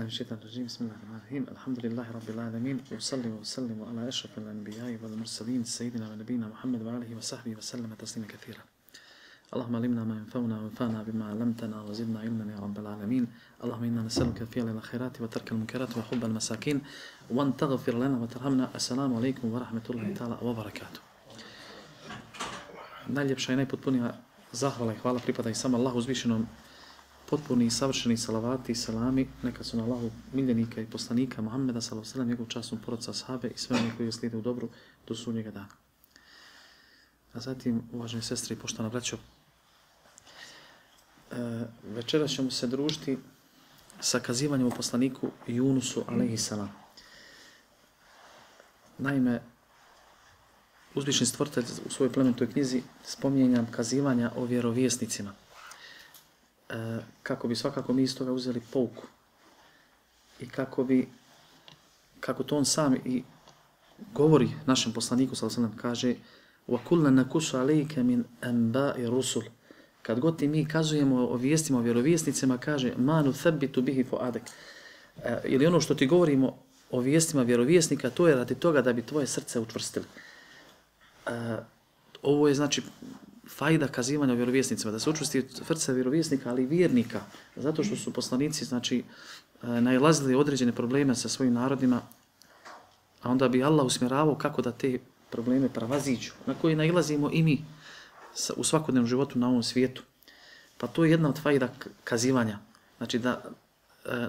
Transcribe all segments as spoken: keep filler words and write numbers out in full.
من الشيطان الرجيم بسم الله الرحمن الرحيم الحمد لله رب العالمين وصلي وسلم على أشرف الأنبياء والمرسلين سيدنا ونبينا محمد وآله وصحبه وسلم تسليما كثيرا اللهم علمنا ما ينفعنا وانفعنا بما علمتنا وزدنا علما يا رب العالمين اللهم إنا نسألك فعل الخيرات وترك المنكرات وحب المساكين وأن تغفر لنا وترحمنا السلام عليكم ورحمة الله تعالى وبركاته. Najljepša i najpotpunija zahvala i hvala pripada i samo Allahu uzvišenom, potpuni i savršeni salavati i salami neka su na Allahu miljenika i poslanika Muhammeda sallallahu alejhi ve sellem, njegov časnom porodca ashabe i sve oni koji slijede u dobru do sudnjega dana. A zatim, uvaženi sestre i poštovana braćo, e, večeras ćemo se družiti sa kazivanjem o poslaniku Junusu alejhi selam. Naime, uzvišeni stvoritelj u svojoj plemenitoj knjizi spominje kazivanja o vjerovjesnicima. E, kako bi svakako mi iz toga uzeli pouku i kako bi, kako to on sam i govori našem poslaniku, sallallahu alejhi ve sellem, kaže وَكُلَّنْ نَكُسُ عَلَيْكَ مِنْ أَنْبَاءِ رُسُلِ. Kad god ti mi kazujemo o vijestima, o vjerovjesnicima, kaže مَا نُثَبِّتُ بِهِ فُؤَادَكَ. E, ili ono što ti govorimo o vijestima vjerovjesnika, to je radi toga da bi tvoje srce učvrstili. E, ovo je znači fajda kazivanja o vjerovjesnicima, da se učvrsti srce vjerovjesnika, ali i vjernika, zato što su poslanici znači nailazili određene probleme sa svojim narodima, a onda bi Allah usmjeravao kako da te probleme prevaziđu, na koje nailazimo i mi u svakodnevnom životu na ovom svijetu. Pa to je jedna od fajda kazivanja, znači da e,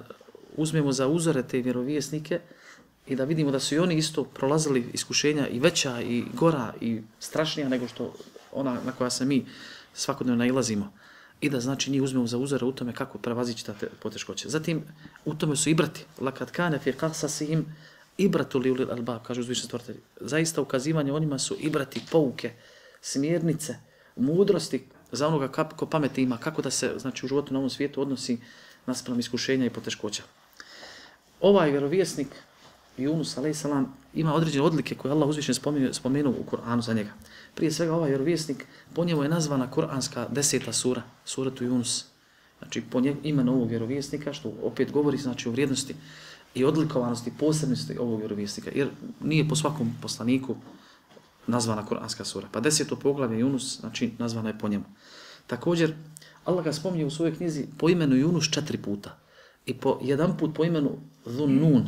uzmemo za uzore te vjerovjesnike i da vidimo da su i oni isto prolazili iskušenja i veća i gora i strašnija nego što ona na koja se mi svakodnevno nailazimo. I da znači njih uzmemo za uzore u tome kako prevazići te poteškoće. Zatim u tome su ibrati. Lakad kane fi qasasihim ibratu li ulil albab, kaže uzvišeni stvoritelj. Zaista ukazivanje onima su ibrati, pouke, smjernice, mudrosti za onoga ko pameti ima, kako da se znači u životu na ovom svijetu odnosi naspram iskušenja i poteškoća. Ovaj vjerovjesnik Junus alejhi selam ima određene odlike koje Allah uzvišen spomenuo, spomenuo u Kur'anu za njega. Prije svega ovaj vjerovjesnik, po njemu je nazvana Kur'anska deseta sura, suratu Yunus. Znači po njemu imenu ovog vjerovjesnika, što opet govori znači o vrijednosti i odlikovanosti, posebnosti ovog vjerovjesnika, jer nije po svakom poslaniku nazvana Kur'anska sura. Pa deseto poglavlje Yunus, znači nazvana je po njemu. Također, Allah ga spominje u svojoj knjizi po imenu Yunus četiri puta i po jedan put po imenu Dhunnun,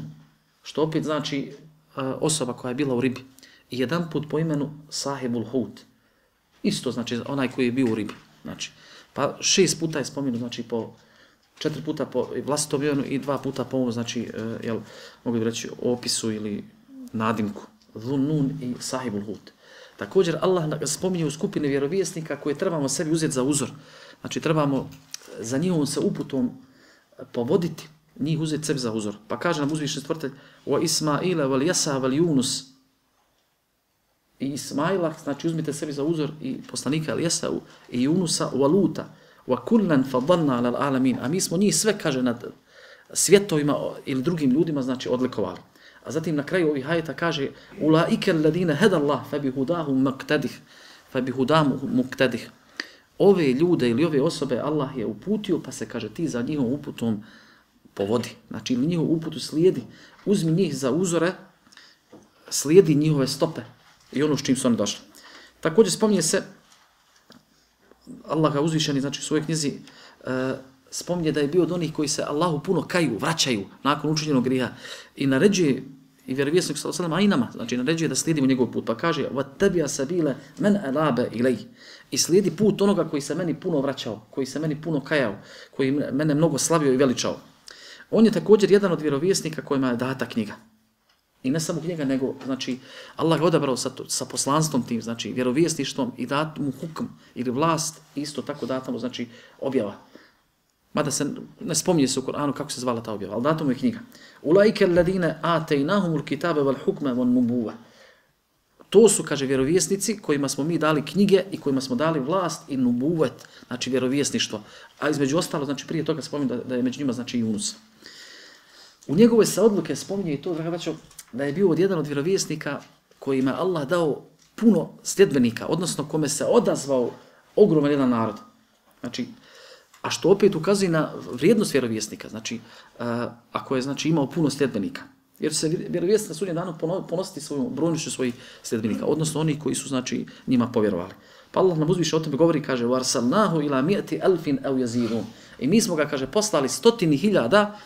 što opet znači osoba koja je bila u ribi. I jedan put po imenu Sahibul Hut. Isto znači onaj koji je bio u ribi. Znači, pa šest puta je spomenut, znači po četiri puta po vlastitom imenu i dva puta po ovom, znači, jel, mogu bi reći, opisu ili nadimku. Dhunnun i Sahibul Hut. Također Allah spominje u skupine vjerovjesnika koje trebamo sebi uzeti za uzor. Znači, trebamo za njihovom se uputom povoditi, njih uzeti sebi za uzor. Pa kaže nam uzvišeni stvoritelj wa Ismaila wal Yasa wal Yunus. I Ismaila, znači uzmite sebi za uzor i poslanika Jesau i Junusa wa Luta wa kullan fadalna ala alamin. A mi smo njih sve, kaže, nad svjetovima ili drugim ljudima, znači odlikovali. A zatim na kraju ovih ajeta kaže ulaika alladine hadallah fabihudahum muqtadih fabihudahum muqtadih. Ove ljude ili ove osobe Allah je uputio, pa se kaže ti za njihovom uputom povodi. Znači njihovu uputu slijedi. Uzmi njih za uzore, slijedi njihove stope i ono s čim su oni došli. Također spominje se, Allah ga uzvišeni, znači u svojoj knjizi, e, spominje da je bio od onih koji se Allahu puno kaju, vraćaju nakon učinjenog grijeha i naređuje i vjerovjesnik sallallahu alejhi ve sellem, a i nama, znači naređuje da slijedimo njegov put, pa kaže وَتَّبِيَ سَبِيلَ مَنْ أَلَابَ إِلَيْهِ. I slijedi put onoga koji se meni puno vraćao, koji se meni puno kajao, koji mene mnogo slavio i veličao. On je također jedan od vjerovjesnika kojima je data knjiga. I ne samo knjiga, nego znači Allah ga odabrao sa, sa poslanstvom tim, znači vjerovjesništvom i dat mu hukm ili vlast, isto tako data mu znači objava. Mada se ne spominje se u Kur'anu kako se zvala ta objava, ali data mu je knjiga. Ulaike alladine atejnahumul kitabe wal hukme wal nubuve. To su, kaže, vjerovjesnici kojima smo mi dali knjige i kojima smo dali vlast i nubuvet, znači vjerovjesništvo. A između ostalo, znači prije toga spominje da, da je među njima znači Yunus. U njegove se odluke spominje i to, draga braćo, da je bio od jedan od vjerovjesnika kojima Allah dao puno sljedbenika, odnosno kome se odazvao ogroman jedan narod. Znači, A što opet ukazuje na vrijednost vjerovjesnika, znači, uh, ako je znači, imao puno sljedbenika. Jer se vjerovjesnik na sudnjem danu ponositi svojom brojnošću svojih sljedbenika, odnosno oni koji su znači, njima povjerovali. Pa Allah nam uzviše o tome govori, kaže وَارْسَلْنَاهُ إِلَى مِئَةِ أَلْفٍ أَوْ يَزِيدُونَ. I mi smo ga, kaže, poslali stotini hiljada,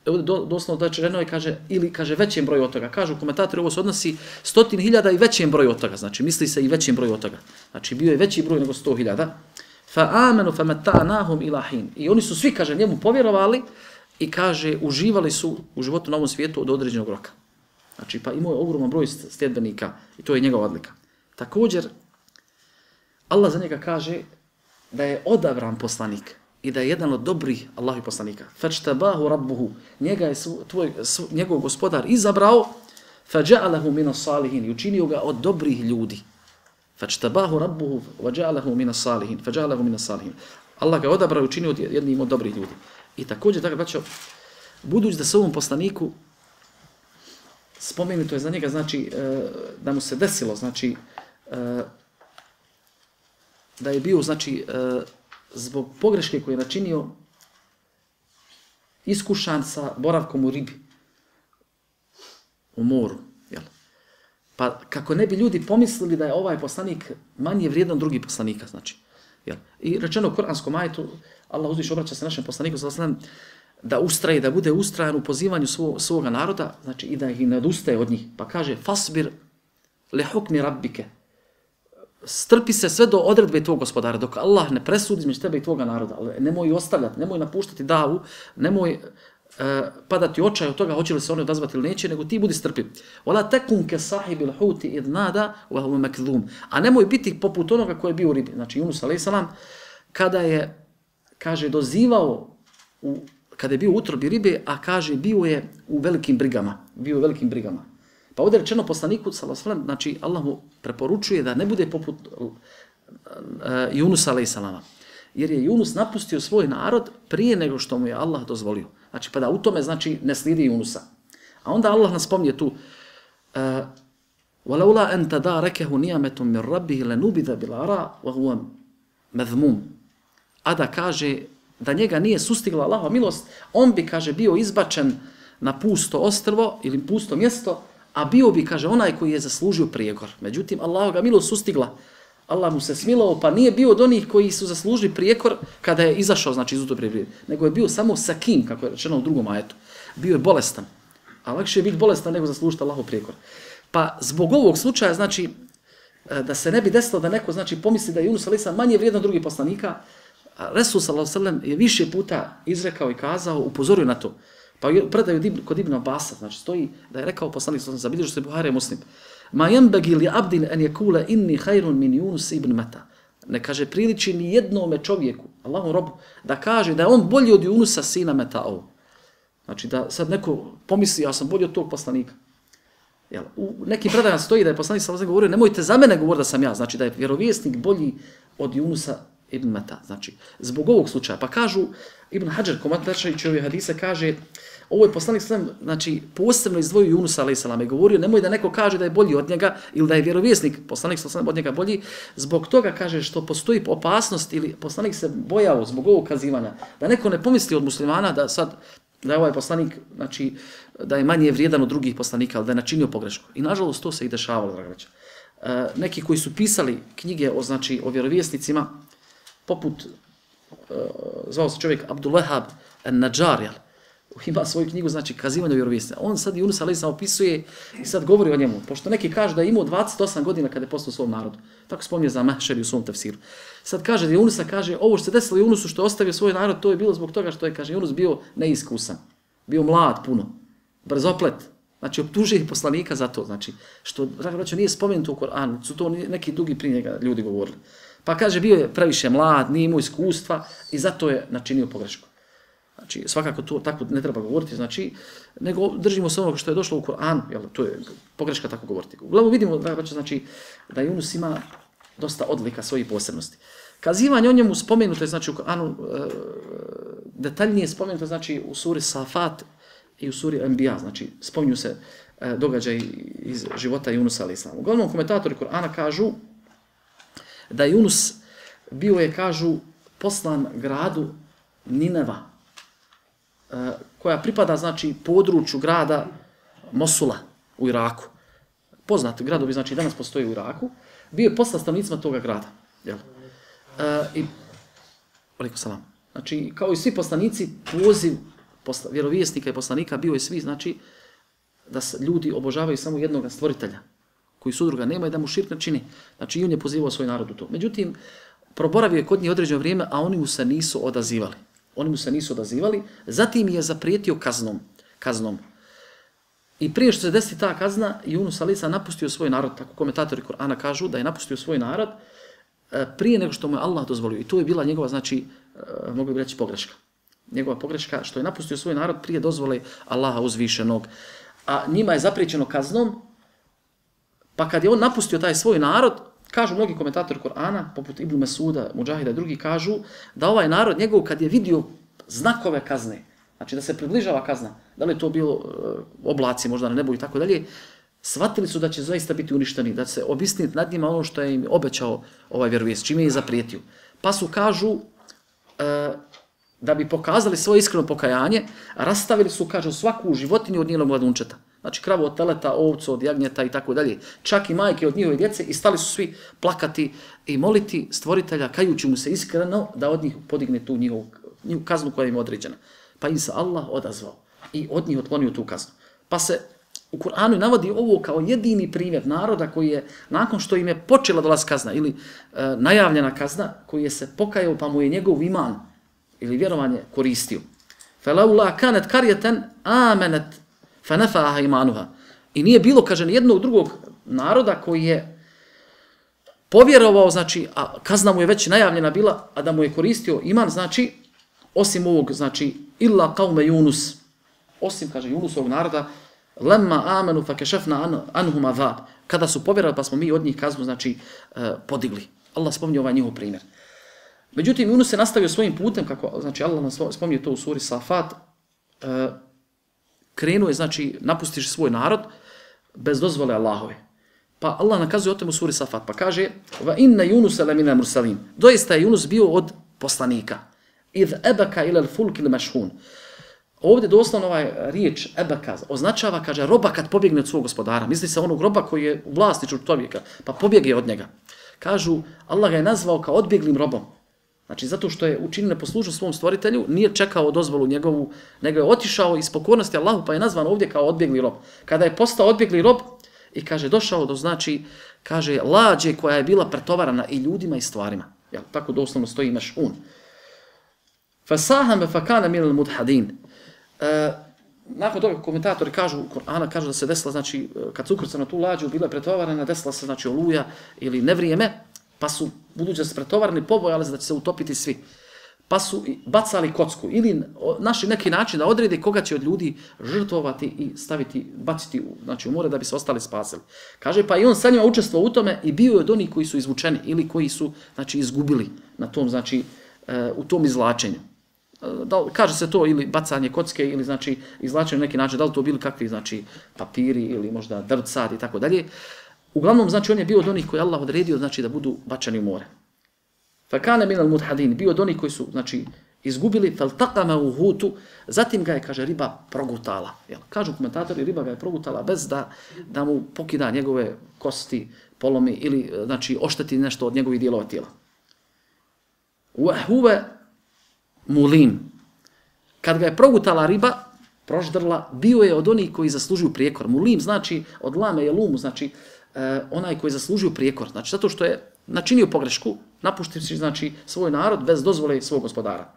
do, doslovno da će ženo kaže, ili kaže većem broju od toga. Kažu komentatori, ovo se odnosi stotini hiljada i većem broju od toga, znači misli se i većem broju od toga. Znači bio je veći broj nego sto hiljada. فَآمَنُوا فَمَتَّعْنَاهُمْ إِلَى حِينٍ. I oni su svi, kaže, njemu povjerovali i kaže, uživali su u životu na ovom svijetu od određenog roka. Znači, pa imao je ogroman broj sljedbenika i to je njegova odlika. Također, Allah za njega kaže da je odabran poslanik i da je jedan od dobrih Allahovih poslanika. فَاجْتَبَاهُ رَبُّهُ. Njega je tvoj, njegov gospodar izabrao فَجَعَلَهُ مِنَ الصَّالِحِينَ. I učinio ga od dobrih ljudi. فَاجْتَبَاهُ رَبُّهُ وَجَعَلَهُ مِنَ الصَّالِحِينَ. فَجَعَلَهُ مِنَ الصَّالِحِينَ. Allah ga je odabrao i učinio od jednim od dobrih ljudi. I također, tako braćo, budući da se ovom poslaniku spomenuto je za njega, znači, da mu se desilo, znači, da je bio, znači, zbog pogreške koje je načinio, iskušan sa boravkom u ribi, u moru, jel? Pa kako ne bi ljudi pomislili da je ovaj poslanik manje vrijedan drugih poslanika, znači, jel? I rečeno u kuranskom ajetu, Allah uzviše obraća se našem poslaniku, da ustraje, da bude ustrajan u pozivanju svog, svoga naroda, znači i da ih ne odustaje od njih. Pa kaže, fasbir li hukmi rabbike. Strpi se sve do odredbe tvog gospodara, dok Allah ne presudi između tebe i tvoga naroda. Ali nemoj ostavljati, nemoj napuštati davu, nemoj uh, padati očaj od toga, hoće li se oni odazvati ili neće, nego ti budi strpiv. Wala takun ka sahibil huti id nada wa huwa makdhum. A nemoj biti poput onoga koji je bio u ribi. Znači Yunus alejhi selam kada je, kaže, dozivao, u, kada je bio u utrobi ribe, a kaže, bio je u velikim brigama. Bio u velikim brigama. Pa ovdje je rečeno poslaniku, sallallahu, znači Allah mu preporučuje da ne bude poput uh, Yunus alejhi selama. Jer je Yunus napustio svoj narod prije nego što mu je Allah dozvolio. Znači, pa da u tome, znači, ne slijedi Yunusa. A onda Allah nas spominje tu وَلَوْلَا أَنْ تَدَارَكَهُ نِيَمَةٌ مِنْ رَبِّهِ لَنُبِذَ بِالْعَرَاءِ وَهُوَ مَذْمُومٌ. A da kaže da njega nije sustigla Allahova milost, on bi, kaže, bio izbačen na pusto ostrvo ili pusto mjesto, a bio bi, kaže, onaj koji je zaslužio prijekor. Međutim, Allahova milost sustigla. Allah mu se smilao, pa nije bio od onih koji su zaslužili prijekor kada je izašao, znači, iz utobre ribe, nego je bio samo sakim, kako je rečeno u drugom ajetu. Bio je bolestan. A lakše je biti bolestan nego zaslužiti Allahov prijekor. Pa zbog ovog slučaja, znači, da se ne bi desilo da neko, znači, pomisli da je Yunus alejhi selam manje vrijedan od drugih poslanika, Resul sallallahu alejhi ve sellem je više puta izrekao i kazao, upozorio na to. Pa predaju kod Ibn Abasa, znači stoji da je rekao poslanik sallallahu alejhi ve sellem, zabilježio se Buhari i Muslim, ma yanbaghi li abdin an yakula inni khairun min Yunus ibn Mata. Ne kaže priliči ni jednome čovjeku, Allahom robu, da kaže da je on bolji od Yunusa sina Metao. Znači da sad neko pomisli, ja sam bolji od tog poslanika. Jel, u nekim predajama stoji da je poslanik sallallahu alejhi ve sellem govorio, nemojte za mene govoriti da sam ja, znači da je vjerovjesnik bolji od Yunusa ibn Mata. Znači, zbog ovog slučaja. Pa kažu, Ibn Hadžar, komentaršajući ove hadise, kaže, ovo je poslanik sallam, znači, posebno izdvojio Yunusa alejhi selam i govorio, nemoj da neko kaže da je bolji od njega ili da je vjerovjesnik, poslanik sallam od njega bolji, zbog toga kaže što postoji opasnost ili poslanik se bojao zbog ovog kazivanja, da neko ne pomisli od muslimana da sad, da je ovaj poslanik, znači, da je manje vrijedan od drugih poslanika, ali da je načinio pogrešku. I nažalost to se i dešavalo, draga braća. E, neki koji su pisali knjige o, znači, o vjerovjesnicima, poput, uh, zvao se čovjek Abdul Wahab an-Najjar, ima svoju knjigu, znači, kazivanje o vjerovjesnicima. On sad Yunus alejhi selam opisuje i sad govori o njemu, pošto neki kaže da je imao dvadeset osam godina kada je postao svom narodu. Tako spominje za Mahšeri u svom tefsiru. Sad kaže da Yunusa, kaže, ovo što se desilo Yunusu što je ostavio svoj narod, to je bilo zbog toga što je, kaže, Yunus bio neiskusan. Bio mlad puno, brzoplet. Znači, optužuje poslanika za to. Znači, što, draga braćo, nije spomenuto u Koranu, su to neki drugi prije njega ljudi govorili. Pa kaže, bio je previše mlad, nije imao iskustva i zato je načinio pogrešku. Znači, svakako to tako ne treba govoriti, znači, nego držimo se onoga što je došlo u Koranu, jel, to je pogreška tako govoriti. Uglavnom vidimo, znači, da Yunus ima dosta odlika svojih posebnosti. Kazivanje o njemu spomenuto je, znači, u Koranu, detaljnije spomenuto, znači, u suri Safat i u suri Anbiya, znači, spominju se događaj iz života Yunusa alejhi selam. Uglavnom, komentatori Korana kažu da Yunus bio je, kažu, poslan gradu Nineva, e, koja pripada, znači, području grada Mosula u Iraku. Poznati gradovi, znači, danas postoji u Iraku. Bio je poslan stanovnicima toga grada. Jel? E, I, alejkum selam. Znači, kao i svi poslanici, poziv posla, vjerovjesnika i poslanika bio je svi, znači, da se ljudi obožavaju samo jednog stvoritelja, koji sudruga nema i da mu širk ne čini. Znači, i on je pozivao svoj narod u to. Međutim, proboravio je kod njih određeno vrijeme, a oni mu se nisu odazivali. Oni mu se nisu odazivali, zatim je zaprijetio kaznom. kaznom. I prije što se desi ta kazna, Yunus alejhi selam napustio svoj narod, tako komentatori Kur'ana kažu da je napustio svoj narod prije nego što mu je Allah dozvolio. I to je bila njegova, znači, mogu bi reći, pogreška. Njegova pogreška što je napustio svoj narod prije dozvole Allaha uzvišenog. A njima je zapriječeno kaznom, pa kad je on napustio taj svoj narod, kažu mnogi komentatori Kur'ana, poput Ibn Mesuda, Mudžahida i drugi, kažu da ovaj narod njegov kad je vidio znakove kazne, znači da se približava kazna, da li je to bilo uh, oblaci možda na nebu i tako dalje, shvatili su da će zaista biti uništeni, da će se obistiniti nad njima ono što je im obećao ovaj vjerovjesnik, čime je zaprijetio. Pa su, kažu, uh, da bi pokazali svoje iskreno pokajanje, rastavili su, kažu, svaku životinju od njenog mladunčeta. Znači kravu od teleta, ovcu od jagnjeta i tako dalje. Čak i majke od njihove djece i stali su svi plakati i moliti stvoritelja, kajući mu se iskreno da od njih podigne tu njihovu, njihovu kaznu koja im je određena. Pa im se Allah odazvao i od njih otklonio tu kaznu. Pa se u Kur'anu navodi ovo kao jedini primjer naroda koji je, nakon što im je počela dolaz kazna ili e, najavljena kazna, koji je se pokajao pa mu je njegov iman ili vjerovanje koristio. فَلَوْلَا كَانَتْ كَرْيَةً آمَنَتْ فَنَفَاهَا imanuha. I nije bilo, kaže, nijednog drugog naroda koji je povjerovao, znači, a kazna mu je već najavljena bila, a da mu je koristio iman, znači, osim ovog, znači, illa qaume Yunus, osim, kaže, Yunusovog naroda, lemma amenu fa kešefna anhum azab. Kada su povjerovali, pa smo mi od njih kaznu, znači, eh, podigli. Allah spominje ovaj njihov primjer. Međutim, Yunus se nastavio svojim putem, kako, znači, Allah nas spominje to u suri Safat, eh, krenuo je, znači, napustiš svoj narod bez dozvole Allahove. Pa Allah nakazuje o temu u suri Safat, pa kaže va inna Yunusa lamina mursalin. Doista je Yunus bio od poslanika. Idh ebaka ila al-fulk al-mashhun. Ovdje doslovno ovaj riječ ebaka označava, kaže, roba kad pobjegne od svog gospodara. Misli se onog roba koji je u vlasništvu čovjeka, pa pobjegne od njega. Kažu, Allah ga je nazvao kao odbjeglim robom. Znači, zato što je učinio neposlušnost svom stvoritelju, nije čekao dozvolu njegovu, nego je otišao iz pokornosti Allahu, pa je nazvan ovdje kao odbjegli rob. Kada je postao odbjegli rob i, kaže, došao do, znači, kaže, lađe koja je bila pretovarana i ljudima i stvarima. Jel, tako doslovno stoji meš'un. Fasahame fakana minal mudhadin. E, nakon toga komentatori kažu, Kur'ana kažu da se desila, znači, kad su ukrcana tu lađu, bila je pretovarana, desila se, znači, oluja ili nevrijeme, pa su, budući da se pretovarani, pobojali da će se utopiti svi. Pa su bacali kocku ili našli neki način da odrede koga će od ljudi žrtvovati i staviti, baciti u, znači, u more da bi se ostali spasili. Kaže, pa i on sa njima učestvovao u tome i bio je od onih koji su izvučeni ili koji su, znači, izgubili na tom, znači, u tom izvlačenju. Da, kaže se to ili bacanje kocke ili, znači, izvlačenje na neki način, da li to bili kakvi, znači, papiri ili možda drvcad i tako dalje. Uglavnom, znači, on je bio od onih koji Allah odredio, znači, da budu bačeni u more. Fakane minal mudhadin, bio od onih koji su, znači, izgubili, faltaqama u hutu, zatim ga je, kaže, riba progutala. Jel? Kažu komentatori, riba ga je progutala bez da, da mu pokida njegove kosti, polomi ili, znači, ošteti nešto od njegovih dijelova tijela. Wahuve mulim. Kad ga je progutala riba, proždrla, bio je od onih koji zaslužuju prijekor. Mulim znači, od lame je lumu, znači, eh, onaj koji zaslužuju prijekor. Znači, zato što je načinio pogrešku, napuštivši, znači, svoj narod bez dozvole svog gospodara.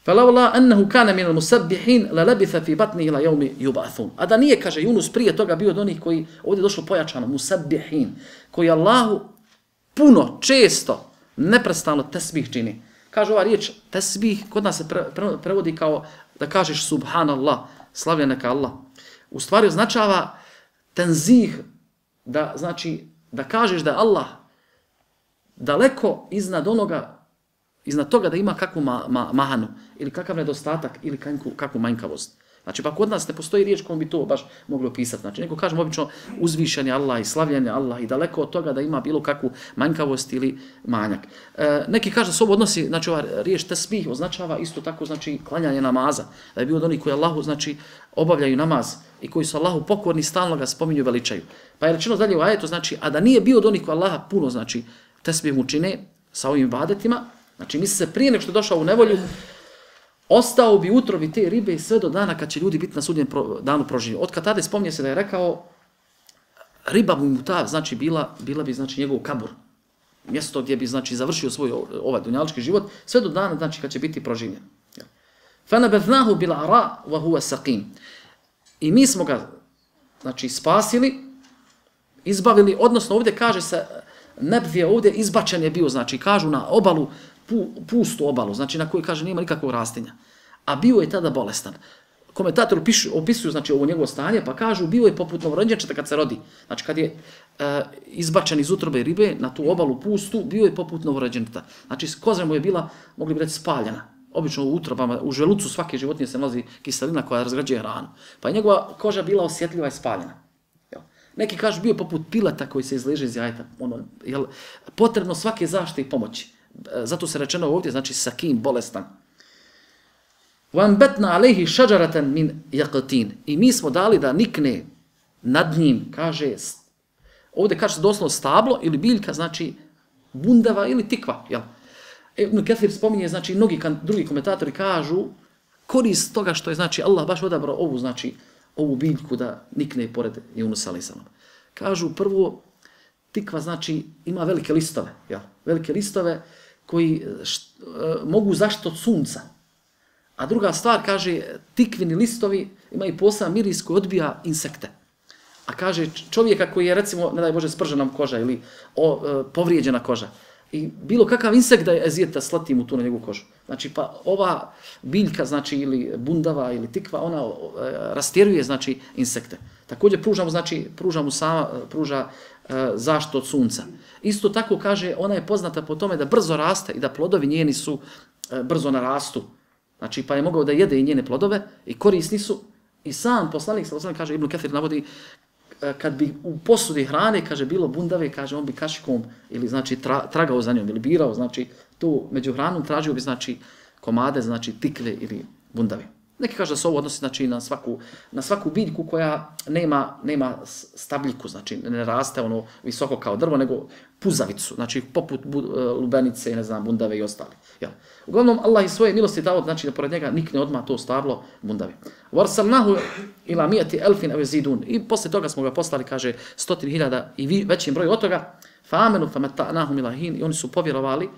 فَلَوْلَا أَنَّهُ كَانَ مِنَ الْمُسَبِّحِينَ لَلَبِثَ فِي بَطْنِهِ إِلَى يَوْمِ يُبْعَثُونَ. A da nije, kaže Yunus, prije toga bio od onih koji, ovdje je došlo pojačano, musabbihin, koji Allahu puno, često, neprestano tesbih čini. Kaže ova riječ, tesbih, kod nas se pre, pre, prevodi kao da kažeš subhanallah, slavljen neka Allah. U stvari označava tenzih, da, znači, da kažeš da je Allah daleko iznad onoga, iznad toga da ima kakvu ma, ma, mahanu, ili kakav nedostatak, ili kakvu, kakvu manjkavost. Znači, pa kod nas ne postoji riječ kojom bi to baš mogli opisati. Znači, neko kažemo obično uzvišeni Allah i slavljeni Allah i daleko od toga da ima bilo kakvu manjkavost ili manjak. E, neki kaže da se ovo odnosi, znači ova riječ tesbih označava isto tako, znači klanjanje namaza. Da je bio od onih koji Allahu, znači, obavljaju namaz i koji su Allahu pokorni, stalno ga spominju i veličaju. Pa je rečeno dalje u ajetu, znači, a da nije bio od onih koji Allaha puno, znači, tesbih mu čine sa ovim ibadetima, znači misli se prije nego što je došao u nevolju, ostao bi utrobi te ribe sve do dana kad će ljudi biti na sudnjem danu proživjeti. Od kad tada spominje se da je rekao, riba mu ta, znači, bila, bila bi, znači, njegov kabur. Mjesto gdje bi, znači, završio svoj ovaj dunjalički život, sve do dana, znači, kad će biti proživljen. فَنَبَذْنَاهُ بِالْعَرَاءُ وَهُوَ سَقِيمٌ. I mi smo ga, znači, spasili, izbavili, odnosno ovdje kaže se, nebvije ovdje izbačen je bio, znači, kažu na obalu, pu, pustu obalu, znači na kojoj kaže nema nikakvog rastinja. A bio je tada bolestan. Komentatori opisuju, znači, ovo njegovo stanje, pa kažu bio je poput novorođenčeta kad se rodi. Znači, kad je e, izbačen iz utrobe ribe na tu obalu pustu, bio je poput novorođenčeta. Znači, koza mu je bila, mogli bi reći, spaljena. Obično u utrobama, u želucu svake životinje se nalazi kiselina koja razgrađuje hranu. Pa je njegova koža bila osjetljiva i spaljena. Jel? Neki kažu bio je poput pileta koji se izleže iz jajeta. Ono, jel, potrebno svake zaštite i pomoći. Zato se rečeno ovdje, znači sakim, bolestan. وَنْبَتْنَا عَلَيْهِ شَجَرَةً مِنْ يَقْتِينَ. I mi smo dali da nikne nad njim, kaže, ovdje kaže doslovno stablo ili biljka, znači bundava ili tikva. Jel? Ibn Kathir spominje, znači mnogi drugi komentatori kažu korist toga što je, znači, Allah baš odabrao ovu, znači, ovu biljku da nikne pored Junusa alejhi selam. Kažu prvo, tikva, znači, ima velike listove, jel? Velike listove koji št, e, mogu zaštiti od sunca. A druga stvar, kaže, tikvini listovi imaju poseban miris koji odbija insekte. A kaže, čovjeka koji je, recimo, ne daj Bože, spržena koža ili o, e, povrijeđena koža, i bilo kakav insekt da je ezijeta slati mu tu na njegovu kožu. Znači, pa ova biljka, znači, ili bundava, ili tikva, ona e, rastjeruje, znači, insekte. Također pruža mu, znači, pruža mu sama, pruža e, zaštitu od sunca. Isto tako, kaže, ona je poznata po tome da brzo raste i da plodovi njeni su e, brzo narastu. Znači, pa je mogao da jede i njene plodove i korisni su. I sam poslanik, sallallahu kaže, Ibn Kathir navodi, kad bi u posudi hrane, kaže, bilo bundave, kaže, on bi kašikom ili, znači, tra, tragao za njom ili birao, znači, tu među hranom tražio bi, znači, komade, znači, tikve ili bundave. Neki kaže da se ovo odnosi, znači, na svaku, na svaku biljku koja nema, nema stabljiku, znači, ne raste ono visoko kao drvo, nego puzavicu, znači, poput bu, lubenice, ne znam, bundave i ostali. Jel? Uglavnom, Allah iz svoje milosti dao, znači, da pored njega nikne odmah to stablo bundave. Varsalnahu ila mijati elfin avezidun. I posle toga smo ga poslali, kaže, stotin hiljada i vi, većim broju od toga, fa amenu fa metanahum ilahin, i oni su povjerovali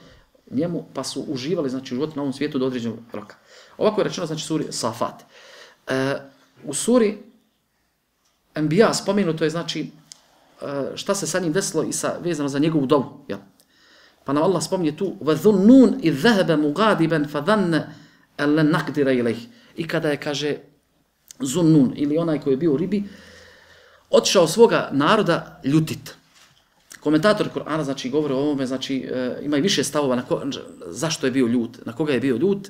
njemu, pa su uživali, znači, u životu na ovom svijetu do određenog roka. Ovako je rečeno, znači, suri Safat. E, u suri Enbiya spomenuto je, znači, e, šta se sa njim desilo i sa, vezano za njegovu dovu. Jel? Pa nam Allah spominje tu وَذُنُّونَ إِذْ ذَهَبَ مُغَادِبًا فَذَنَّ أَلَّنْ نَقْدِرَ إِلَيْهِ. I kada je, kaže, Zunnun, ili onaj koji je bio u ribi, otišao svoga naroda ljutit. Komentatori Kur'ana, znači, govore o ovome, znači, e, imaju više stavova na ko, zašto je bio ljut, na koga je bio ljut.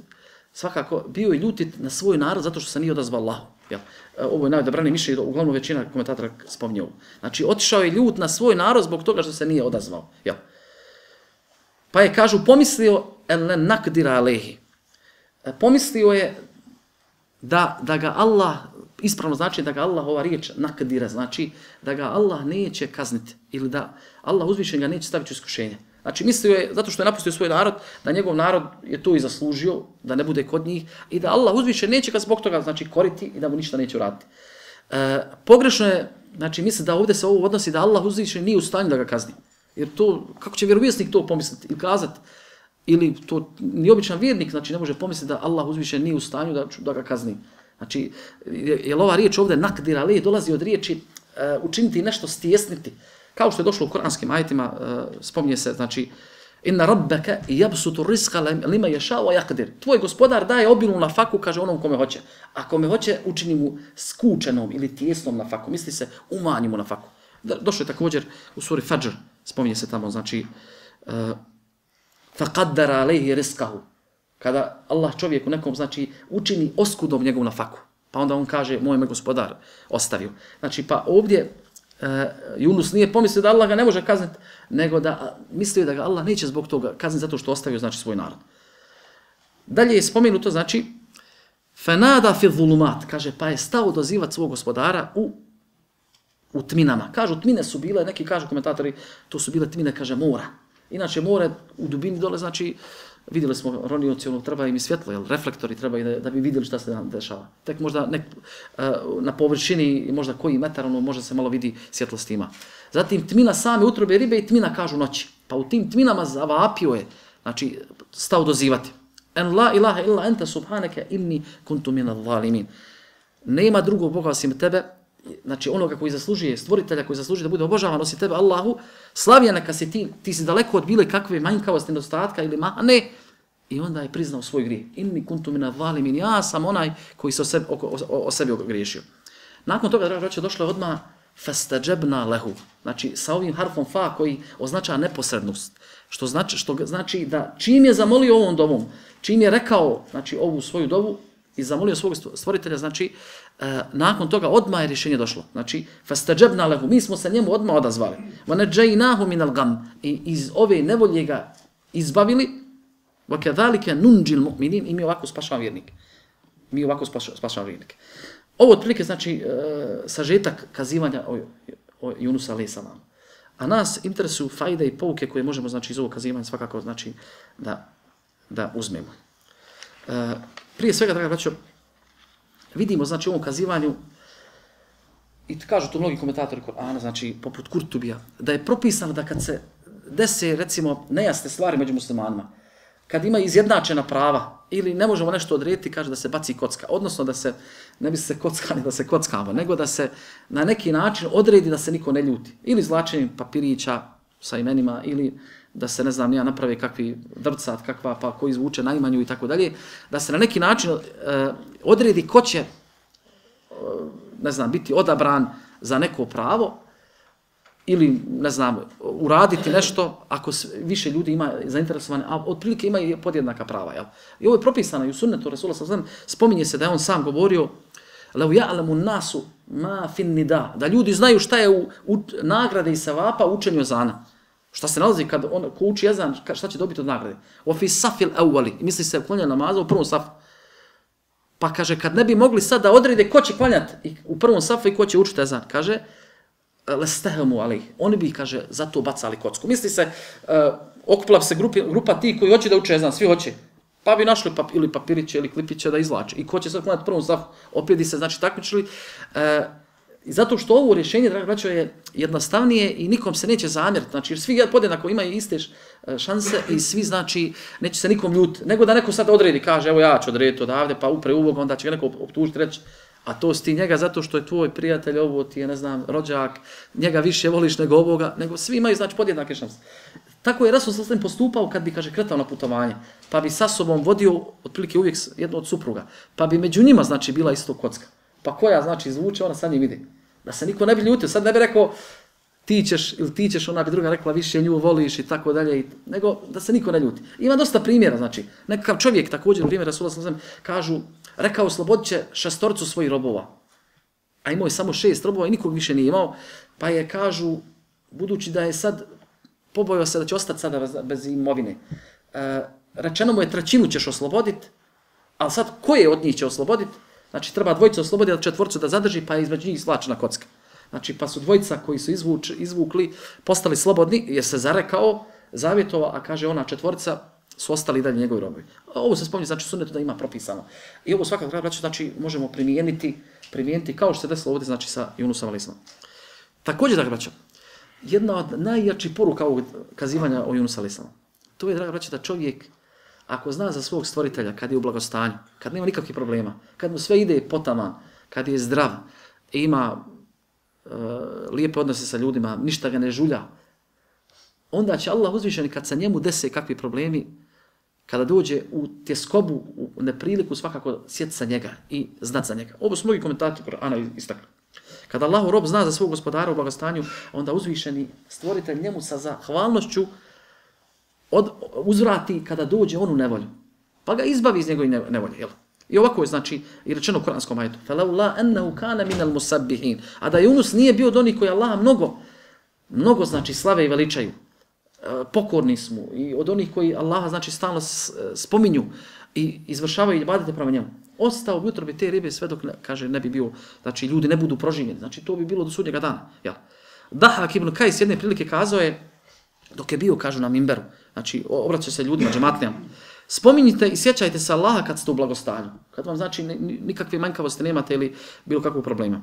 Svakako, bio je ljutit na svoj narod zato što se nije odazvao Allahu. Jel? Ovo je najodabrani mišljenje, uglavnom većina komentatora spominje ovo. Znači, otišao je ljut na svoj narod zbog toga što se nije odazvao. Jel? Pa je, kažu, pomislio el nakdira alehi. Pomislio je da, da ga Allah, ispravno znači da ga Allah, ova riječ nakdira, znači da ga Allah neće kazniti ili da Allah uzvišen ga neće staviti u iskušenje. Znači, mislio je, zato što je napustio svoj narod, da njegov narod je to i zaslužio, da ne bude kod njih i da Allah uzvišen neće ga zbog toga, znači, koriti i da mu ništa neće uraditi. E, pogrešno je, znači, misli da ovdje se ovo odnosi da Allah uzvišen nije u stanju da ga kazni. Jer to, kako će vjerovjesnik to pomisliti ili kazati, ili to ni običan vjernik, znači, ne može pomisliti da Allah uzvišen nije u stanju da, da ga kazni. Znači, je ova riječ ovdje nakdira, ali dolazi od riječi uh, učiniti nešto, stjesniti. Kao što je došlo u kuranskim ajetima, uh, spominje se, znači, inna rabbaka yabsutu rizqa lima yasha wa yaqdir. Tvoj gospodar daje obilnu nafaku, kaže onom kome hoće. A kome hoće, učini mu skučenom ili tijesnom nafaku. Misli se, umanji mu nafaku. Došlo je također u suri Fajr, spominje se tamo, znači, uh, faqaddara alayhi rizqahu. Kada Allah čovjeku nekom, znači, učini oskudom njegovu nafaku. Pa onda on kaže, moj me gospodar ostavio. Znači, pa ovdje uh, Yunus nije pomislio da Allah ga ne može kazniti, nego da mislio da ga Allah neće zbog toga kazniti zato što ostavio, znači, svoj narod. Dalje je spomenuto, znači, fenada fi zulumat, kaže, pa je stao dozivati svog gospodara u, u tminama. Kažu, tmine su bile, neki kažu komentatori, to su bile tmine, kaže, mora. Inače, more u dubini dole, znači, vidjeli smo ronioci, ono, treba im i svjetlo, jel, reflektori treba i da, da bi vidjeli šta se nam dešava. Tek možda nek, uh, na površini, možda koji metar, ono, možda se malo vidi svjetlost ima. Zatim, tmina same utrobe ribe i tmina, kažu, noći. Pa u tim tminama zavapio je, znači, stao dozivati. En la ilaha illa enta subhaneke inni kuntu minal zalimin. Nema drugog Boga osim tebe, znači onoga koji zaslužuje, stvoritelja koji zaslužuje da bude obožavan osim tebe, Allahu, slavija neka si ti, ti si daleko od bile kakve manjkavosti, nedostatka ili mane, i onda je priznao svoj grijeh. Inni kuntu minal zalimin, ja sam onaj koji se o sebi, o, o, o sebi ogriješio. Nakon toga, draga braćo, došlo je odmah fastajabna lehu, znači sa ovim harfom fa koji označava neposrednost, što znači, što znači da čim je zamolio ovom dovom, čim je rekao, znači, ovu svoju dovu i zamolio svog stvoritelja, znači, e, nakon toga odmah je rješenje došlo. Znači, fastajabna lehu, mi smo se njemu odmah odazvali. Wa najjaynahu min al-gham, i iz ove nevolje ga izbavili. Wa kadhalika nunjil mu'minin, i mi ovako spašavamo vjernike. Mi ovako spašavamo vjernike. Ovo otprilike znači e, sažetak kazivanja o, o Yunusu alejhi selam. A nas interesuju fajde i pouke koje možemo, znači, iz ovog kazivanja svakako, znači, da, da uzmemo. E, prije svega, draga braćo, vidimo, znači, u ovom kazivanju, i kažu tu mnogi komentatori Kur'ana, znači, poput Kurtubija, da je propisano da kad se dese, recimo, nejasne stvari među muslimanima, kad ima izjednačena prava, ili ne možemo nešto odrediti, kaže da se baci kocka. Odnosno da se, ne bi se kockali da se kockamo, nego da se na neki način odredi da se niko ne ljuti. Ili zlačenjem papirića sa imenima, ili da se, ne znam, nija napravi kakvi vrcat, kakva, pa koji zvuče najmanju i tako dalje. Da se na neki način uh, odredi ko će, uh, ne znam, biti odabran za neko pravo, ili, ne znam, uraditi nešto ako više ljudi ima zainteresovane, a otprilike ima i podjednaka prava. Jel? I ovo je propisano i u sunnetu Rasula sallallahu alejhi ve sellem, spominje se da je on sam govorio "Lau ya'lamu nasu ma fin nida", da ljudi znaju šta je u, u nagrade i sevapa učenju ezana. Šta se nalazi kad on ko uči ezan, šta će dobiti od nagrade? Wa fi safil awwali, misli se klanja namaza u prvom safu. Pa kaže, kad ne bi mogli sad da odrede ko će klanjati u prvom safu i ko će učiti ezan, kaže lestehemu alejh, oni bi, kaže, zato bacali kocku. Misli se, uh, okupila se grupi, grupa ti koji hoće da uče ezan, svi hoće, pa bi našli pap, ili papiriće ili klipiće da izvlače. I ko će sad klanjati prvom safu, opet bi se, znači, takmičili. Uh, I zato što ovo rješenje, draga braćo, je jednostavnije i nikom se neće zamjeriti. Znači, jer svi podjednako imaju iste šanse i svi, znači, neće se nikom ljuti. Nego da neko sad odredi, kaže, evo ja ću odrediti odavde, pa upre uvog, onda će ga neko optužiti, reći, a to si ti njega zato što je tvoj prijatelj, ovo ti je, ne znam, rođak, njega više voliš nego ovoga, nego svi imaju, znači, podjednake šanse. Tako je Rasul sallallahu alejhi ve sellem postupao kad bi, kaže, kretao na putovanje, pa bi sa sobom vodio, otprilike uvijek jedno od supruga, pa bi među njima, znači, bila isto kocka. Pa koja, znači, zvuče, ona sad njih vidi. Da se niko ne bi ljutio, sad ne bi rekao ti ćeš ili ti ćeš, ona bi druga rekla više nju voliš i tako dalje, nego da se niko ne ljuti. Ima dosta primjera, znači, nekakav čovjek također, u vrijeme Rasula sallallahu alejhi ve sellem, kažu, rekao, oslobodit će šestorcu svojih robova. A imao je samo šest robova i nikog više nije imao, pa je, kažu, budući da je sad, pobojao se da će ostati sada bez imovine, e, rečeno mu je trećinu ćeš osloboditi, ali sad koje od njih će osloboditi? Znači, treba dvojicu osloboditi, četvorcu da zadrži, pa je između njih slačena kocka. Znači, pa su dvojica koji su izvuč, izvukli, postali slobodni, jer se zarekao, zavjetovao, a kaže ona četvorica, su ostali dalje njegovi robovi. Ovo se spominje, znači, sunnetu da ima propisano. I ovo svakako, braćo, znači, možemo primijeniti, primijeniti kao što se desilo ovdje, znači, sa Yunusom alejhi selam. Također, draga braćo, jedna od najjačih poruka ovog kazivanja o Yunusu alejhi selam, to je, draga braćo, da čovjek, ako zna za svog stvoritelja, kad je u blagostanju, kad nema nikakvih problema, kad mu sve ide potaman, kad je zdrav, ima e, lijepe odnose sa ljudima, ništa ga ne žulja, onda će Allah uzvišeni kad se njemu dese kakvi problemi, kada dođe u tjeskobu, u nepriliku, svakako sjeti sa njega i znat za njega. Ovo su mnogi komentatori Kur'ana istakli. Kada Allahu rob zna za svog gospodara u blagostanju, onda uzvišeni stvoritelj njemu sa zahvalnošću od, uzvrati kada dođe on u nevolju. Pa ga izbavi iz njegove nevolje. Jel? I ovako je znači i rečeno u kuranskom ajetu. Falaula annahu kana minal musabbihin. A da Yunus nije bio od onih koji Allaha mnogo mnogo znači slave i veličaju. Pokorni smo i od onih koji Allaha znači stalno spominju i izvršavaju ibadete prema njemu. Ostao bi utrobi te ribe sve dok ne, kaže ne bi bio, znači ljudi ne budu proživljeni. Znači to bi bilo do sudnjega dana, jel? Dahak ibn Kajs jedne prilike kazao je dok je bio, kažu na minberu, znači obraćao se ljudima, džematlijama. Spominjite i sjećajte se Allaha kad ste u blagostanju. Kad vam znači nikakve manjkavosti nemate ili bilo kakvog problema.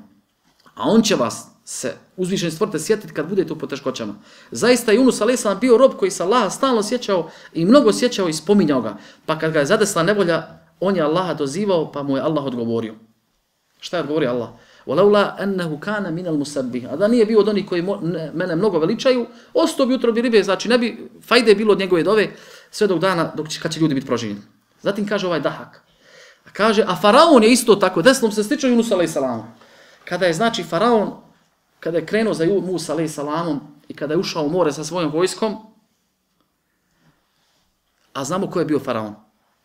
A on će vas se uzvišeni stvorite sjetiti kad budete u poteškoćama. Zaista je Yunus alejhi selam bio rob koji se Allaha stalno sjećao i mnogo sjećao i spominjao ga. Pa kad ga je zadesla nevolja, on je Allaha dozivao pa mu je Allah odgovorio. Šta je odgovorio Allah? Walaula annahu kana minal musabbih. A da nije bio od onih koji mene mnogo veličaju, ostao bi utrobi ribe, znači ne bi fajde bilo od njegove dove sve dok dana dok će, kad će ljudi biti proživljeni. Zatim kaže ovaj Dahak. A kaže, a faraon je isto tako, desnom se stiče Yunus alejhi selam. Kada je znači faraon, kada je krenuo za Musa alejhi selamom i kada je ušao u more sa svojom vojskom, a znamo ko je bio faraon.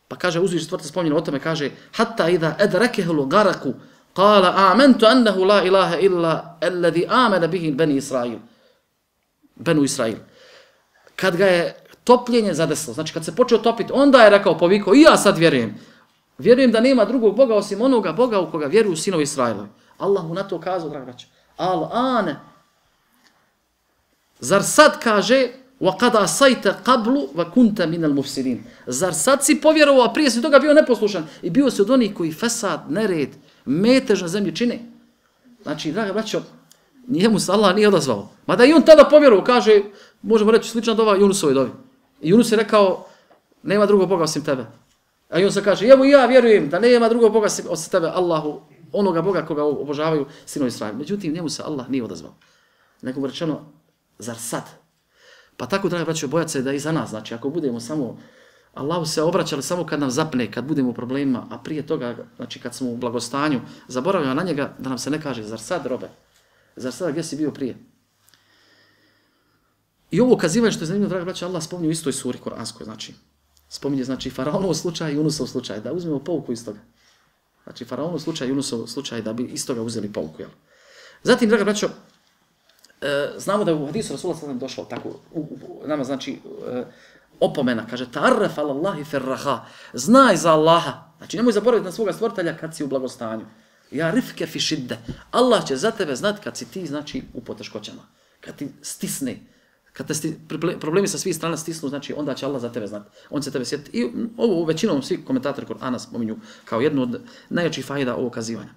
Pa kaže, uzvišeni stvoritelj spominje o tome, kaže, hatta idha adrakehu garaku, qala amantu annahu la ilaha illa alladhi amana bihi bani Israil. Banu Israil. Kad ga je topljenje zadeslo, znači kad se počeo topiti, onda je rekao, povikao, i ja sad vjerujem. Vjerujem da nema drugog Boga osim onoga Boga u koga vjeruju sinovi Israilovi. Allah mu na to kazao, draga braća. Al ane. Zar sad kaže, wa qad asayta qablu wa kunta min al mufsidin. Zar sad si povjerovao, a prije si toga bio neposlušan i bio si od onih koji fesad, nered, metež na zemlji čine. Znači, draga braćo, njemu se Allah nije odazvao. Mada i on tada povjerovao, kaže, možemo reći slična dova Yunusovoj dovi. I Yunus je rekao, nema drugog Boga osim tebe. A i on se kaže, evo ja vjerujem da nema drugog Boga osim tebe, Allahu, onoga Boga koga obožavaju sinovi Israil. Međutim, njemu se Allah nije odazvao. Nego mu rečeno, zar sad? Pa tako, draga braćo, bojat se da i za nas, znači, ako budemo samo, Allahu se obraćali samo kad nam zapne, kad budemo u problemima, a prije toga, znači, kad smo u blagostanju, zaboravljamo na njega, da nam se ne kaže, zar sad, robe? Zar sad, gdje si bio prije? I ovo ukazivanje što je zanimljivo, draga braćo, Allah spominje u istoj suri Koranskoj, znači, spominje, znači, Faraonov slučaj i Yunusov slučaj, da uzmemo pouku iz toga. Znači, Faraonov slučaj i Yunusov slučaj, da bi iz toga uzeli pouku, jel? Zatim, draga braćo, e, znamo da je u hadisu Rasulullah sallallahu alejhi ve sellem došlo tako, u, u, nama znači e, opomena, kaže, ta'arraf ala Allahi firraha, znaj za Allaha, znači nemoj zaboraviti na svoga stvoritelja kad si u blagostanju. Ja rifke fi šidde, Allah će za tebe znati kad si ti, znači, u poteškoćama, kad ti stisne, kad te sti, problemi sa svih strana stisnu, znači onda će Allah za tebe znati, on će tebe sjetiti. I ovo većinom svi komentatori Kur'ana spominju kao jednu od najjačih fajda ovog kazivanja.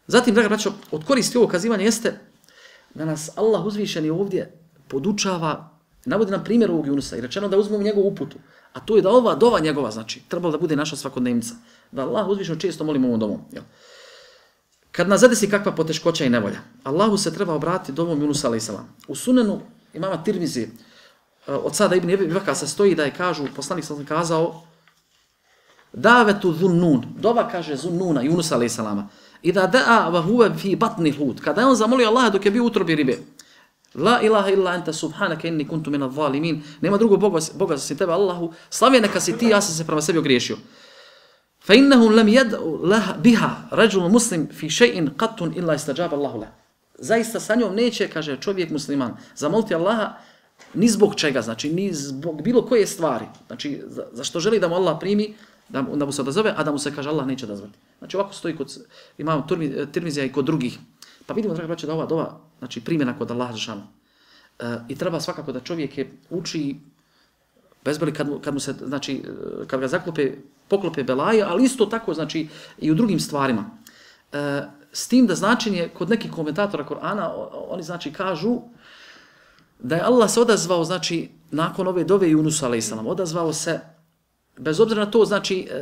Zatim, draga braćo, od koristi ovog kazivanja jeste da nas Allah uzvišeni ovdje podučava, navodi nam primjer ovog Yunusa i rečeno da uzmemo njegovu uputu, a to je da ova dova njegova, znači, trebalo da bude naša svakodnevnica, da Allah uzvišeno često molimo ovom dovom. Jel? Kad nas zadesi kakva poteškoća i nevolja, Allahu se treba obratiti dovom Yunusa alejhi selam. U sunenu imama Tirmizi, od Sada ibn Ebi Bekra se stoji da je, kažu, poslanik sam kazao, davetu zunnun, dova kaže zunnuna, Yunus alejhi selama, i da da'a wa huwa fi batni hud, kada je on zamolio Allaha dok je bio u utrobi ribe, la ilaha illa anta subhanaka inni kuntu minadh zalimin, nema drugog Boga, Boga osim tebe, Allahu, slavljen neka si ti, ja sam se prema sebi ogriješio. Fa innahum lam yad'u biha rajul muslim fi shay'in qattun illa istajaba Allahu lahu. Zaista sa njom neće, kaže čovjek musliman, zamoliti Allaha ni zbog čega, znači ni zbog bilo koje stvari, znači za, za što želi da mu Allah primi, da mu, da mu se odazove, a da mu se, kaže, Allah neće odazvati. Znači ovako stoji kod imamo Tirmizija i kod drugih. Pa vidimo, draga braćo, da ova dova, znači primjena kod Allaha dželešanu. E, I treba svakako da čovjek je uči bezboli kad mu, kad mu se, znači, kad ga zaklope, poklope belaje, ali isto tako, znači, i u drugim stvarima. E, s tim da značenje, kod nekih komentatora Korana, oni, znači, kažu da je Allah se odazvao, znači, nakon ove dove Yunusa alejhi selam, odazvao se, bez obzira na to, znači, e,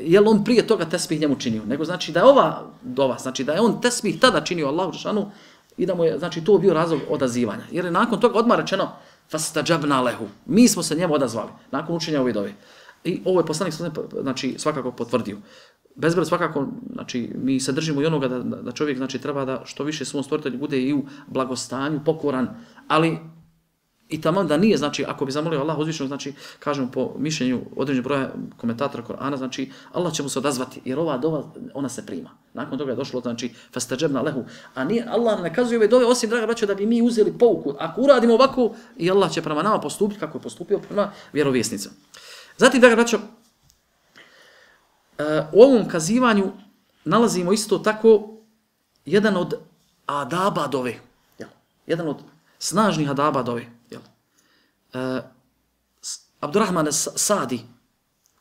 je li on prije toga tesbih njemu činio, nego znači da je ova dova, znači da je on tesbih tada činio Allahu dželešanu i da mu je, znači, to bio razlog odazivanja. Jer je nakon toga odmah rečeno, fastajabna lehu, mi smo se njemu odazvali, nakon učenja ove dove. I ovo je poslanik, znači, svakako potvrdio. Bezbroj svakako, znači, mi se držimo i onoga da, da čovjek, znači, treba da što više svom stvoritelju bude i u blagostanju, pokoran, ali I tamo da nije, znači, ako bi zamolio Allah uzvišenog, znači, kažemo po mišljenju određenog broja komentatora Korana, znači, Allah će mu se odazvati, jer ova dova, ona se prima. Nakon toga je došlo, znači, fastajabna lehu. A nije, Allah ne kazuje ove dove, osim, draga braćo, da bi mi uzeli pouku. Ako uradimo ovako, i Allah će prema nama postupiti kako je postupio prema vjerovjesnicom. Zatim, draga braćo, u ovom kazivanju nalazimo isto tako jedan od adaba dove. Jedan od snažnih adaba dove. Uh, Abdurrahman Sadi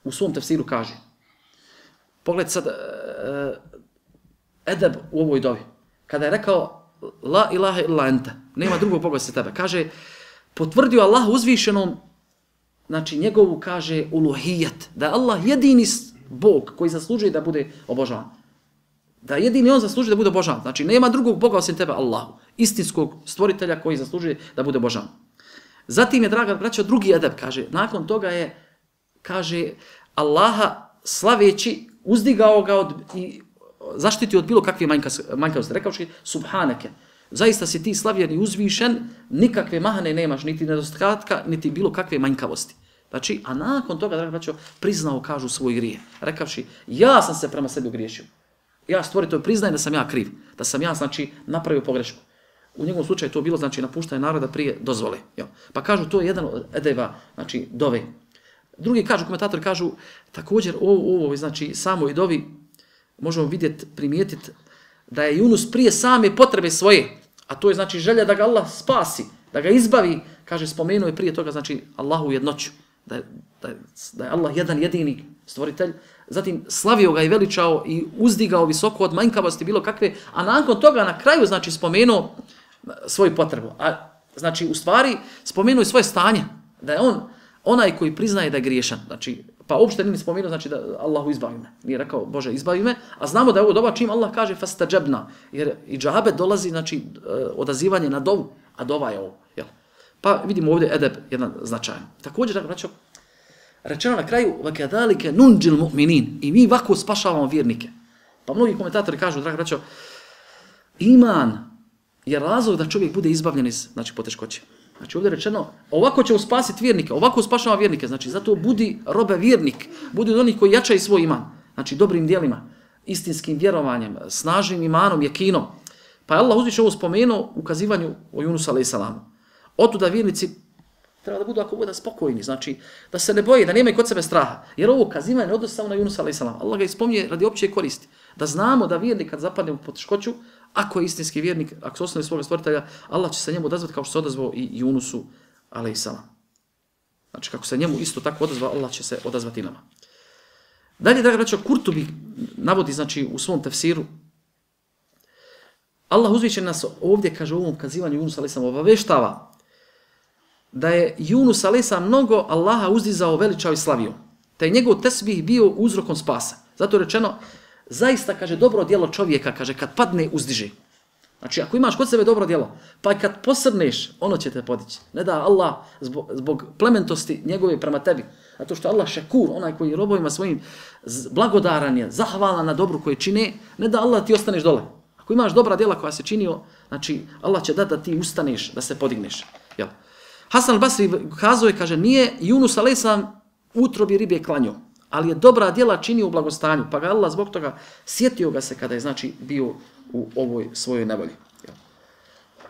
u svom tefsiru kaže, pogled sad uh, edeb u ovoj dovi, kada je rekao la ilaha illa ente, nema drugog Boga se tebe, kaže, potvrdio Allah uzvišenom, znači njegovu, kaže, uluhijet, da je Allah jedini Bog koji zaslužuje da bude obožavan. Da jedini on zaslužuje da bude obožavan. Znači nema drugog Boga osim tebe, Allahu, istinskog stvoritelja koji zaslužuje da bude obožavan. Zatim je, draga braćo, drugi edeb, kaže, nakon toga je, kaže, Allaha slaveći, uzdigao ga od, i zaštitio od bilo kakve manjkavosti. Rekavši, subhaneke, zaista si ti slavljen i uzvišen, nikakve mahane nemaš, niti nedostatka, niti bilo kakve manjkavosti. Znači, a nakon toga, draga braćo, priznao, kažu, svoj grije. Rekavši, ja sam se prema sebi ogriješio. Ja stvoritelj priznajem da sam ja kriv, da sam ja, znači, napravio pogrešku. U njegovom slučaju to bilo, znači, napuštanje naroda prije dozvole. Jel? Pa kažu, to je jedan od edeba, znači, dove. Drugi kažu, komentatori kažu, također ovo, ovo znači, samoj dovi možemo vidjeti, primijetiti da je Yunus prije same potrebe svoje, a to je, znači, želja da ga Allah spasi, da ga izbavi, kaže, spomenuo je prije toga, znači, Allahu jednoću, da je, da je, da je Allah jedan jedini stvoritelj, zatim slavio ga i veličao i uzdigao visoko od manjkavosti bilo kakve, a nakon toga na kraju, znači, spomenuo svoju potrebu. A, znači, u stvari, spomenuo je svoje stanje, da je on onaj koji priznaje da je griješan. Znači, pa uopšte nije spomenuo, znači, da Allahu izbavi me. Nije rekao, Bože, izbavi me, a znamo da je ovo doba čim Allah kaže fastajabna, jer i džabe dolazi, znači, odazivanje na dovu, a dova je ovo. Jel? Pa vidimo ovdje edeb jedan značajan. Također, znači, rečeno na kraju, وَكَذَلِكَ نُنْجِ الْمُؤْمِنِينَ, i mi ovako spašavamo vjernike. Pa mnogi komentatori kažu, draga braćo, iman je razlog da čovjek bude izbavljen iz, znači, poteškoće. Znači, ovdje je rečeno, ovako ćemo spasiti vjernike, ovako spašavamo vjernike, znači, zato budi robe vjernik, budi od onih koji jačaju svoj iman, znači, dobrim dijelima, istinskim vjerovanjem, snažnim imanom, jekinom. Pa je Allah uzviše ovo spomenuo u kazivanju o Yunusu alejhi selam. Otuda vjernici treba da budu ako bude spokojni, znači da se ne boje, da nemaju kod sebe straha. Jer ovo kazivanje ne odnosi samo na Yunusa alejhi selam. Allah ga ispominje radi opće koristi. Da znamo da vjernik kad zapadne u poteškoću, ako je istinski vjernik, ako se osnovi svoga stvoritelja, Allah će se njemu odazvati kao što se odazvao i Yunusu alejhi selam. Znači kako se njemu isto tako odazvao, Allah će se odazvati nama. Dalje, draga braćo, Kurtubi navodi, znači, u svom tefsiru, Allah uzvišen nas ovdje, kaže u ovom kazivanju Yunusa alejhi selam, obaveštava da je Yunus alejhi selam mnogo Allaha uzdizao, veličao i slavio. Te je njegov tesbih bio uzrokom spasa. Zato je rečeno, zaista, kaže, dobro djelo čovjeka, kaže, kad padne, uzdiže. Znači, ako imaš kod sebe dobro djelo, pa kad posrneš, ono će te podići. Ne da Allah, zbog, zbog plementosti njegove prema tebi. Zato što Allah šekur, onaj koji robovima svojim blagodaran je, zahvalan na dobru koje čine, ne da Allah ti ostaneš dole. Ako imaš dobra djela koja se činio, znači, Allah će dati da ti ustaneš, da se podigneš. Jel? Hasan al-Basri kazao je, kaže, nije Yunus alejhi selam utrobi ribe klanjao, ali je dobra djela činio u blagostanju, pa ga Allah zbog toga sjetio ga se kada je, znači, bio u ovoj svojoj nevolji.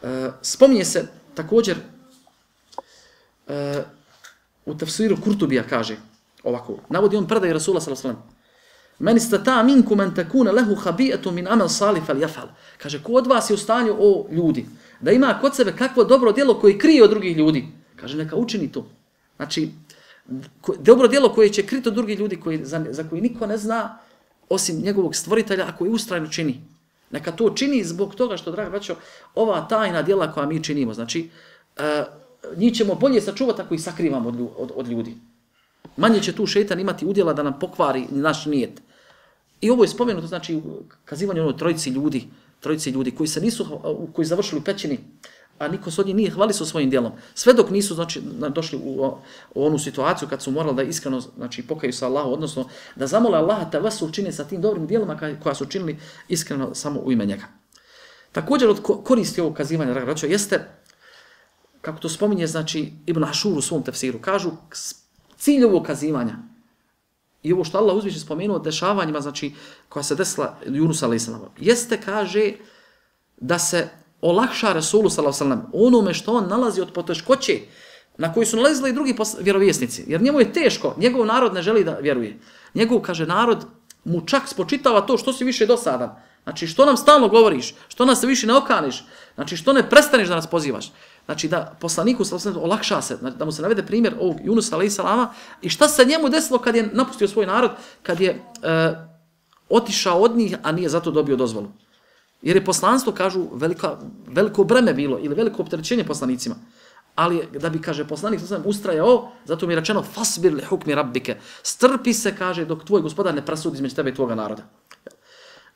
E, spominje se također e, u tefsiru Kurtubija kaže ovako, navodi on predaj Rasula sallallahu alejhi ve sellem, men istata minkum an takuna lahu khabi'atun min amal salih falyafal. Kaže, ko od vas je u stanju, o ljudi, da ima kod sebe kakvo dobro djelo koje krije od drugih ljudi, kaže, neka učini to. Znači, dobro djelo koje će kriti od drugih ljudi, koji, za, za koji niko ne zna, osim njegovog stvoritelja, a koji ustrajno čini. Neka to čini zbog toga što, draga braćo, ova tajna djela koja mi činimo, znači, e, njih ćemo bolje sačuvati ako ih sakrivamo od, od, od ljudi. Manje će tu šejtan imati udjela da nam pokvari naš nijet. I ovo je spomenuto, znači, u kazivanju onoj trojici ljudi, trojici ljudi koji se nisu, koji završili u pećini, a niko se od njih nije hvalisao svojim djelom. Sve dok nisu, znači, došli u, u onu situaciju kad su morali da iskreno, znači, pokaju sa Allahom, odnosno da zamole Allaha te vas učine sa tim dobrim djelima koja su učinili iskreno samo u ime njega. Također od koristi ovog kazivanja, draga braćo, jeste kako to spominje, znači, Ibn Ašur u svom tefsiru, kažu cilj ovog kazivanja i ovo što Allah uzviše spomenuo dešavanjima, znači, koja se desila Yunus alejhi selam, jeste, kaže, da se olakša Resulu sallallahu alejhi ve sellem onome što on nalazi od poteškoće na koji su nalazili i drugi vjerovjesnici. Jer njemu je teško, njegov narod ne želi da vjeruje. Njegov, kaže, narod mu čak spočitava to što si više dosadan. Znači, što nam stalno govoriš, što nas se više ne okaniš, znači, što ne prestaneš da nas pozivaš. Znači, da poslaniku sallallahu alejhi ve sellem olakša se, znači, da mu se navede primjer ovog Yunusa alejhi selama i šta se njemu desilo kad je napustio svoj narod, kad je e, otišao od njih, a nije zato dobio dozvolu. Jer je poslanstvo, kažu, velika, veliko breme bilo ili veliko opterećenje poslanicima. Ali da bi, kaže, poslanik sam ustrajao, zato mi je rečeno fasbir li hukmi rabbike. Strpi se, kaže, dok tvoj gospodar ne presudi između tebe i tvoga naroda.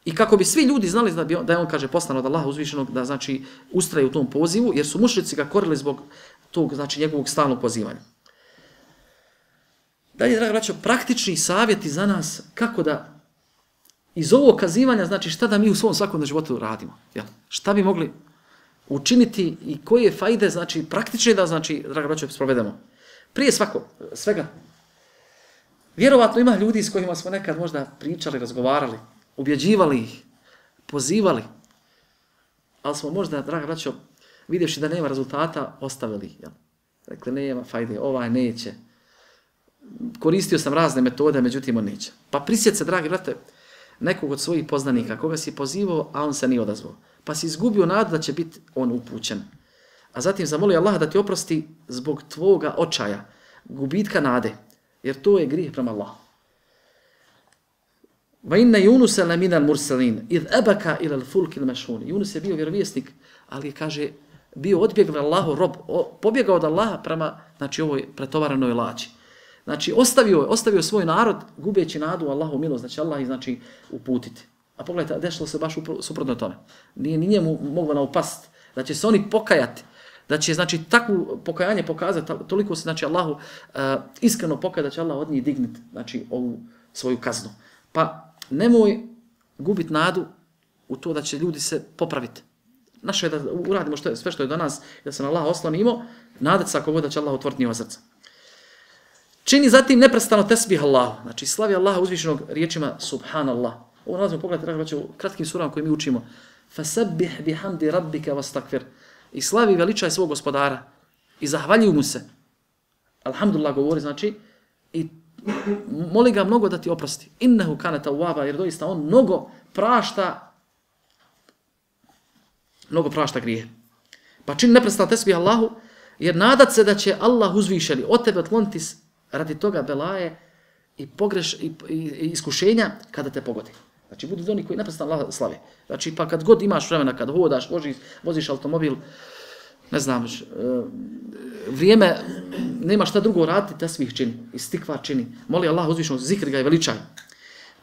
I kako bi svi ljudi znali da, bi on, da je on, kaže, poslan od Allaha uzvišenog, da, znači, ustraje u tom pozivu, jer su mušrici ga korili zbog tog, znači, njegovog stalnog pozivanja. Dalje, draga braćo, praktični savjeti za nas kako da iz ovog kazivanja, znači, šta da mi u svom svakodnevnom životu radimo. Jel? Šta bi mogli učiniti i koje fajde, znači, praktične da, znači, draga braćo, sprovedemo. Prije svako, svega, vjerovatno ima ljudi s kojima smo nekad možda pričali, razgovarali, ubjeđivali ih, pozivali, ali smo možda, draga braćo, vidjevši da nema rezultata, ostavili ih. Jel? Dakle, nema fajde, ovaj neće. Koristio sam razne metode, međutim, on neće. Pa prisjet se, dragi brate, nekog od svojih poznanika, koga si pozivao, a on se nije odazvao. Pa si izgubio nadu da će biti on upućen. A zatim zamolio Allaha da ti oprosti zbog tvoga očaja, gubitka nade, jer to je grijeh prema Allahu. Va inna Yunusa la minal mursalin, id abaka ila al-fulk al-mashhun. Yunus je bio vjerovjesnik, ali je, kaže, bio odbjegao Allahu rob, pobjegao od Allaha prema, znači, ovoj pretovaranoj lađi. Znači, ostavio, ostavio svoj narod, gubeći nadu u Allahu milost, znači Allah ih, znači, uputiti. A pogledajte, dešlo se baš suprotno tome. Nije ni njemu moglo naupast, da će se oni pokajati, da će, znači, takvu pokajanje pokazati, toliko se, znači, Allahu uh, iskreno pokajati, da će Allah od njih digniti, znači, ovu svoju kaznu. Pa nemoj gubiti nadu u to da će ljudi se popraviti. Naše je da uradimo što je, sve što je do nas, da se na Allah oslonimo, nadati se ako god da će Allah otvoriti njihova srca. Čini zatim neprestano tesbih Allahu, znači slavi Allaha uzvišenog riječima Subhanallah. Ovo nalazimo, pogledajte, u kratkim surama koje mi učimo. Fasabbih bihamdi rabbika wastakfir. I slavi veličaj svog gospodara i zahvaljuj mu se. Alhamdulillah govori, znači, i moli ga mnogo da ti oprosti. Innehu kana tawwaba, jer doista on mnogo prašta, mnogo prašta grije. Pa čini neprestano tesbih Allahu, jer nadat se da će Allah uzvišeni od tebe otkloniti radi toga belaje i pogreš i, i, i iskušenja kada te pogodi. Znači, budu oni koji neprestano Allah slave. Znači, pa kad god imaš vremena, kad hodaš, voziš, voziš automobil, ne znam, vrijeme, nema šta drugo raditi, te svih čini, i stikvar čini. Moli Allah uzvišenog, zikri ga i veličaj.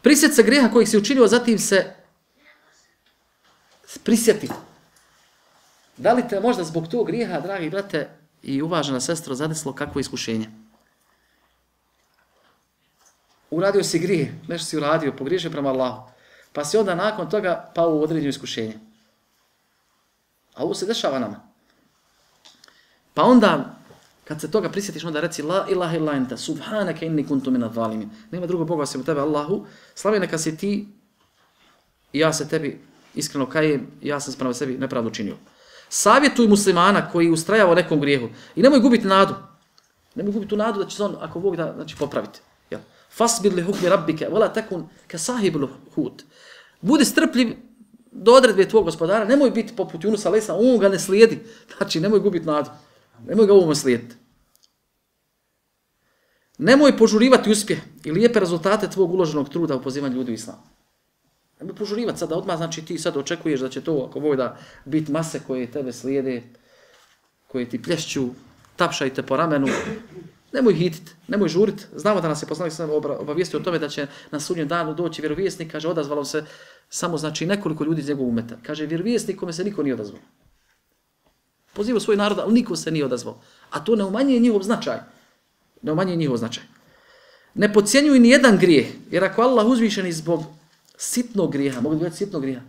Prisjet se greha kojih si učinio, zatim se prisjeti. Da li te možda zbog tog grijeha, dragi brate i uvažena sestro, zadeslo kakvo iskušenje? Uradio si grije, nešto si uradio, pogriješio prema Allahu. Pa si onda nakon toga pao u određeno iskušenje. A ovo se dešava nama. Pa onda, kad se toga prisjetiš, onda reci la ilaha illa enta, subhanaka inni kuntu minadh zalimin. Nema drugog Boga osim tebe, Allahu. Slavi neka si ti i ja se tebi iskreno kajem, ja sam prema sebi nepravdu činio. Savjetuj muslimana koji ustrajava u nekom grijehu i nemoj gubiti nadu. Nemoj gubiti tu nadu da će se on, ako Bog da, znači, popraviti. Jel? Fasbir li hukmi rabbike, wala takun ka sahibul hut. Budi strpljiv do odredbe tvog gospodara, nemoj biti poput Yunusa alejhi selam, on ga ne slijedi. Znači, nemoj gubiti nadu. Nemoj ga ovom slijediti. Nemoj požurivati uspjeh i lijepe rezultate tvog uloženog truda u pozivanju ljudi u islam. Nemoj požurivati sada odmah, znači ti sad očekuješ da će to, ako Bog da, biti mase koje tebe slijede, koje ti plješću, tapšajte po ramenu. Nemoj hititi, nemoj žuriti. Znamo da nas je poslanik sam obavijestio o tome da će na sudnjem danu doći vjerovjesnik, kaže, odazvalo se samo, znači, nekoliko ljudi iz njegovog umeta. Kaže, vjerovjesnik kome se niko nije odazvao. Pozivao svoj narod, ali niko se nije odazvao. A to ne umanjuje njihov značaj. Ne umanjuje njihov značaj. Ne podcjenjuj ni jedan grijeh, jer ako Allah uzvišeni zbog sitnog grijeha, mogu gledati sitnog grijeha,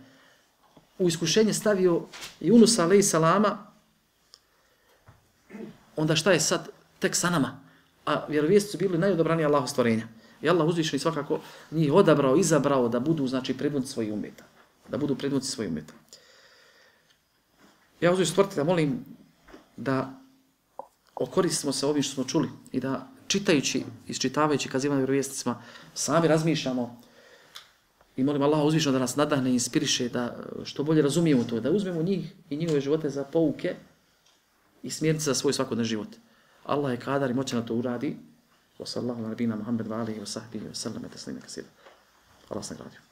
u iskušenje stavio Yunusa alejhi selama, onda šta je sad tek sa nama? A vjerovjesnici su bili najodobraniji Allahu stvorenja. I Allah uzvišeni svakako njih odabrao, izabrao da budu, znači, predvodnici svojih umeta. Da budu predvodnici svojih umeta. Ja uzvišeni stvoritelja molim da okoristimo se ovim što smo čuli i da čitajući, isčitavajući kazivanje vjerovjesnicima, sami razmišljamo i molim Allaha uzvišeno da nas nadahne i inspiriše da što bolje razumijemo to, da uzmemo njih i njihove živote za pouke i smjernice za svoj svakodnevni život. Allah je kadar i moćan da to uradi. Wa sallallahu ala nabina Muhammed wa alihi wa sahbihi wa sallam. Allah vas nagradio.